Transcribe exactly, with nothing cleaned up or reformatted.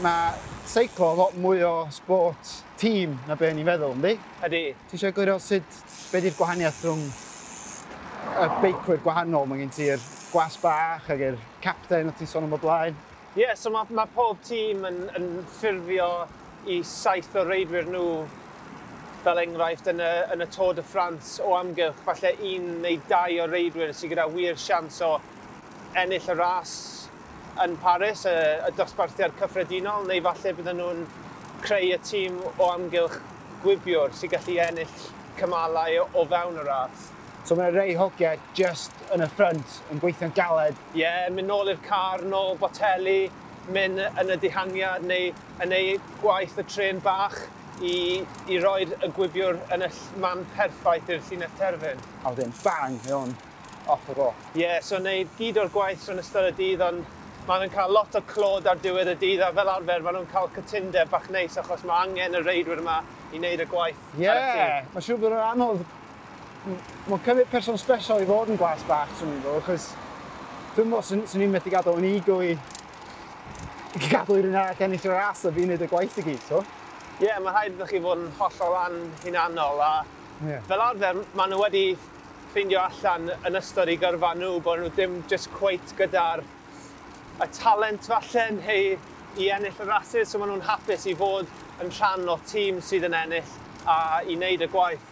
Mae seiclo lot mwy o sport tîm na be ni'n feddwl, yndi? Ydy. Ti eisiau egluro sut, be di'r gwahaniaeth rhwng y beicwyr gwahanol? Mae gen ti'r gwas bach ag yr capten o ti'n sôn am o blaen. Ie, yeah, so mae ma pob tîm yn, yn ffurfio i saith o reidwyr nhw, fel enghraifft yn y, yn y Tour de France o amgylch, falle un neu dau o reidwyr sydd gyda wir sians o ennill y ras yn Paris, y, y dosbarthiad cyffredinol, neu falle bydden nhw'n creu y tîm o amgylch gwibiwr sy'n gallu ennill cymalau o, o fewn y ras. So mae rei hogiau just yn y front yn gweithio'n galed. Ie, yeah, mynd nôl i'r car, nôl boteli, mynd yn y dihangiad neu yn ei gwaith y tren bach i, i roi'r y gwibiwr yn y man perffaith i'r llinell terfyn. A wedyn, bang, mae o'n off the go. Ie, yeah, so wneud gyd o'r gwaith yn ystod y dydd, ond maen nhw'n cael lot o clod ar diwedd y dydd, a fel arfer maen nhw'n cael cytundeb bach neis achos mae angen y reidwyr yma i wneud y gwaith. Ie, yeah, mae'n siŵr bod yn anodd. Mae'n cymryd person special i fod yn gwas bach, swn i'n feddwl, achos dwi'n meddwl swn, swn i'n methu gadael yn ego i, i gadael i rhywun arall ennill y ras a fi'n neud y gwaith i gyd, so. Ie, yeah, mae rhaid iddo chi fod yn hollol anhunanol a yeah. Fel arfer maen nhw wedi ffeindio allan yn ystod eu gyrfa nhw bod nhw ddim just cweit gyda'r y talent falle neu i ennill y rasys, so maen nhw'n hapus i fod yn rhan o tîm sydd yn ennill a i wneud y gwaith.